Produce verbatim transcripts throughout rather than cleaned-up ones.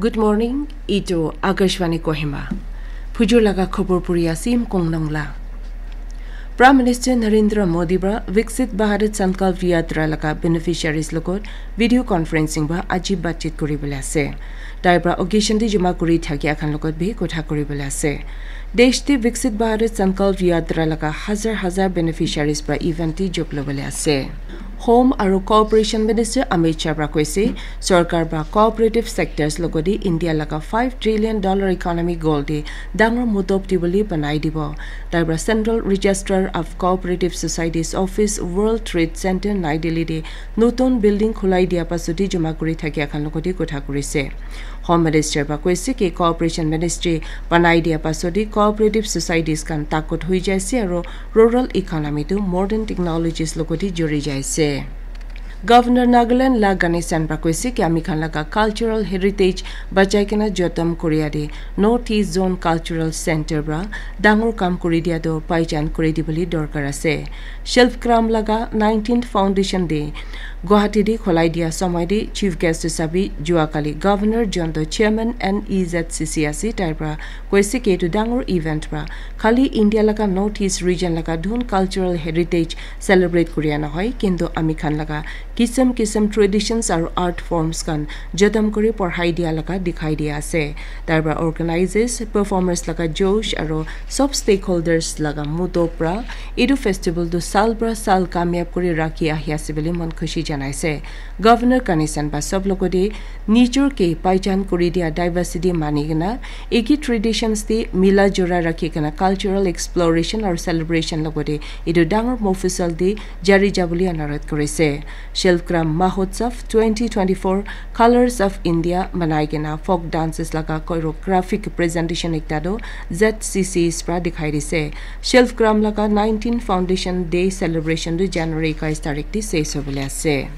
Good morning, itu Akashvani Kohima. Phujur laga khobor puri asim Kongnong la. Prime Minister Narendra Modi pra Viksit Bharat Sankalp Yatra laga beneficiaries logot video conferencing pra aji batchit kuri bole ase. Tai pra occasion te joma kuri thakia khan logot bi kotha kuri bole ase. Desh te Viksit Bharat Sankalp Yatra laga hazar hazar beneficiaries pra event te jog lobole ase. Home aru Cooperation Minister Amit Shah pra koise, sorkar pra cooperative sectors logodi India laga five trillion dollar economy goal te dangor mudop dibole banai dibo. Tai pra Central Registrar of Cooperative Societies Office, World Trade Center, Nai Delhi te notun building khulai dia pasodi joma kuri thakia khan logodi kotha kurise. Home Minister pra koise ki Cooperation Ministry banai dia pasodi cooperative societies khan takot hui jaise aru rural economy tu modern technologies logodi juri jaise. Governor Nagaland La Ganesan pra koise ki ami khan laga cultural heritage bachai kena jotom koria de North East Zone Cultural Center pra dangor kam kuri dia to paichan kuri dibole dorkar ase. Shilpgram laga nineteenth Foundation Day Guwahati te khulai dia somoi te chief guest hisabe jua kali Governor Jonto chairman N E Z C C ase tai pra koise ki etu dangor event pra khali India laga North East region laga dhun cultural heritage celebrate kuria nohoi, kintu ami khan laga kisam kisam traditions aru art forms khan jadam kuri porhai dia laga dikhai dia ase. Tai pra organizers, performers laga josh aru sob stakeholders laga mudo pra etu festival tu sal pra sal kamyab kuri rakhi ahi ase bole mon khushi janaise. Governor Ganesan pra sob logodi nijor ke paichan kuri dia diversity mani kena eki traditions te mila jora rakhi kena cultural exploration aru celebration logodi etu dangor mofusal te jari jabole anurodh kurise. Shilpgram Mahotsav twenty twenty-four Colors of India manai kena folk dances laga choreographic presentation ekta tu Z C Cs pra dikhai dise. Shilpgram laga nineteen Foundation Day celebration tu January ekais tarik te ses hobole ase.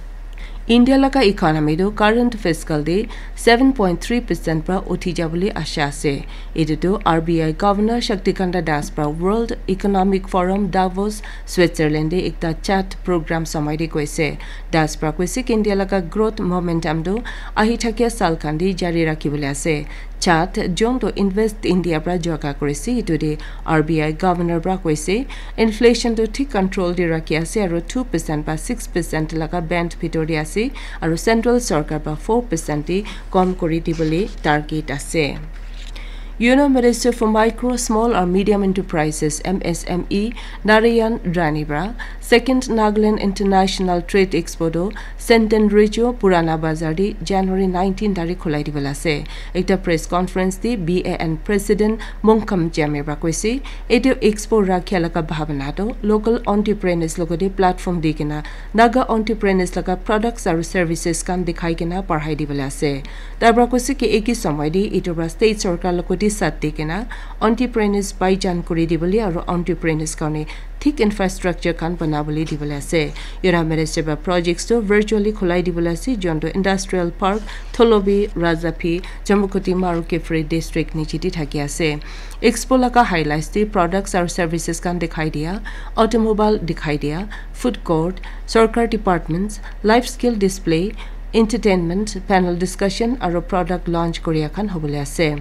India laga economy tu current fiscal te seven point three percent pra uthi jabole asha ase. Etu tu R B I Governor Shaktikanta Das pra World Economic Forum Davos, Switzerland te ekta chat program somoi te koise. Das pra koise ki India laga growth momentum tu ahi thakia sal khan te jari rakhi bole ase. Chat jon to Invest India pra joga korise, etu te R B I Governor pra koise inflation tu thik control te rakhi ase aru two percent pa six percent laga band bhitor te ase aru central sorkar pra four percent te kom kuri dibole target ase. Union Minister for Micro, Small and Medium Enterprises, M S M E, Narayan Rani pra Second Nagaland International Trade Expo tu Senten Rejo Purana Bazar te January nineteen tarik khulai dibole ase. Ekta press conference te B A N President Mongkham Jame pra koise, etu expo rakhia laga bhabana tu local entrepreneurs logodi platform di kena Naga entrepreneurs laga products aru services khan dikhai kena parhai dibole ase. Tai pra koise ki eki somoi te etu pra state sorkar logodi sat di kena entrepreneurs baijan kuri dibole aru entrepreneurs karne thik infrastructure khan banabole dibole ase. Union Minister pra projects tu virtually khulai dibole ase, jon tu Industrial Park, Tholobi, Razaphi, Jamukhutima aru Kiphire district niche te thaki ase. Expo laga highlights te products aru services khan dikhai dia, automobile dikhai dia, food court, sorkar departments, life skill display, entertainment, panel discussion aru product launch koria khan hobole ase.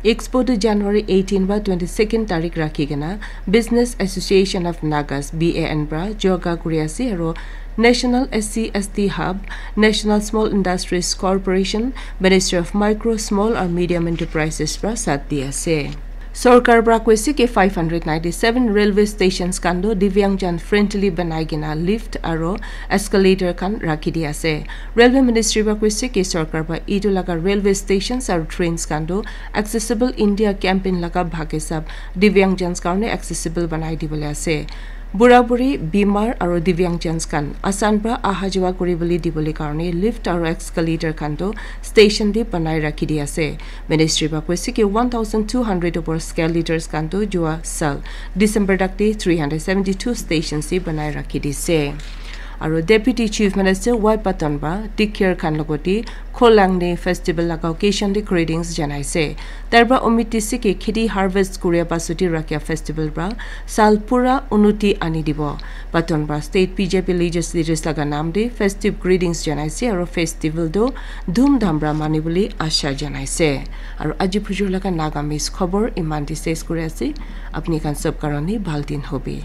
Expo tu January eighteen ba twenty-second tarik rakhi kena Business Association of Nagas, B A N pra joga kuri ase aru National S C S T Hub, National Small Industries Corporation, Ministry of Micro, Small and Medium Enterprises pra sat di ase. Sorkar pra koise ki five hundred ninety-seven railway stations khan tu Divyangjan friendly banai kena lift aru escalator khan rakhi di ase. Railway Ministry pra koise ki sorkar pra etu laga railway stations aru trains khan tu Accessible India campaign laga bhag hisab Divyangjan karne accessible banai dibole ase. Bura buri, bimar aru Divyangjan khan asan pra aha jawa kuri bole dibole karne lift aru escalator khan tu station te banai rakhi di ase. Ministry pra koise ki one thousand two hundred upor escalators khan tu jua sal December tak te three hundred seventy-two stations te banai rakhi dise. Aro Deputy Chief Minister Y Patton para Dikir khan logote Kholangni festival laga occasion te greetings janaise. Tarpra Omit Tisike kheti harvest kuria pasuti rakhia festival pra sal pura unuti ani dibo. Patton pra state B J P leaders leaders laga naam te festive greetings janaise aro festival tu dhum dham pra mani bole asha janaise. Aro aji phujur laga Naga Miss khobor iman te ses kuri ase. Apni khan sob karone bhal din hobi.